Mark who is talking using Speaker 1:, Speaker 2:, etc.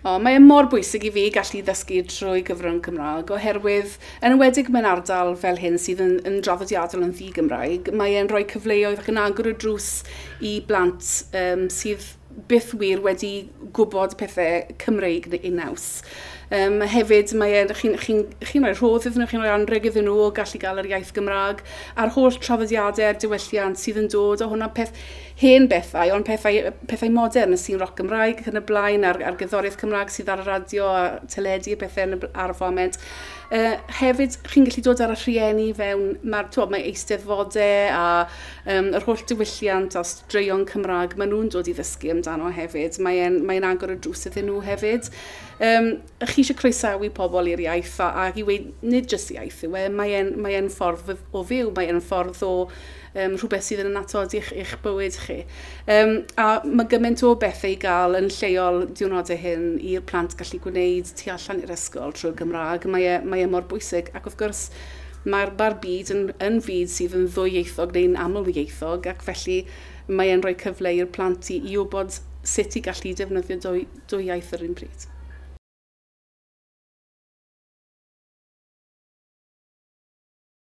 Speaker 1: O, mae e mor bwysig i fi gallu ddysgu trwy gyfrwng Cymraeg, oherwydd, yn enwedig mewn ardal fel hyn sydd yn draddodiadol yn ddi-Gymraeg, mae e'n rhoi cyfleoedd ac yn agor y drws i blant sydd byth wir wedi gwybod pethau Cymreig neu naws. Hefyd, mae e'n, chi'n chi, chi rhoi rhodd iddyn nhw, chi'n rhoi anrheg iddyn nhw o gallu gael yr iaith Gymraeg, a'r holl traddodiadau a'r diwylliant sydd yn dod o hwnna, peth hen bethau, ond pethau modern, y sîn roc Gymraeg ac yn y blaen, a'r gerddoriaeth Cymraeg sydd ar y radio a teledu a pethau ar y foment. Hefyd, chi'n gallu dod ar y rhieni fewn, mae eisteddfodau a yr holl diwylliant a straeon Cymraeg, maen nhw'n dod i ddysgu amdano hefyd. Mae'n mae agor y drws iddyn nhw hefyd. Chi eisiau croesawu pobl i'r iaith ac i weud, nid jyst iaith yw e, mae'n mae ffordd o fyw, mae'n ffordd o rhywbeth sydd yn annatod i'ch bywyd chi. A mae gymaint o bethau i gael yn lleol diwrnodau hyn i'r plant gallu gwneud tu allan i'r ysgol trwy'r Gymraeg. Mae e mor bwysig, ac wrth gwrs mae'r byd yn fyd sydd yn ddwyieithog neu'n amlieithog, ac felly mae e'n rhoi cyfle i'r plant i wybod sut i gallu defnyddio dwy iaith yr un pryd.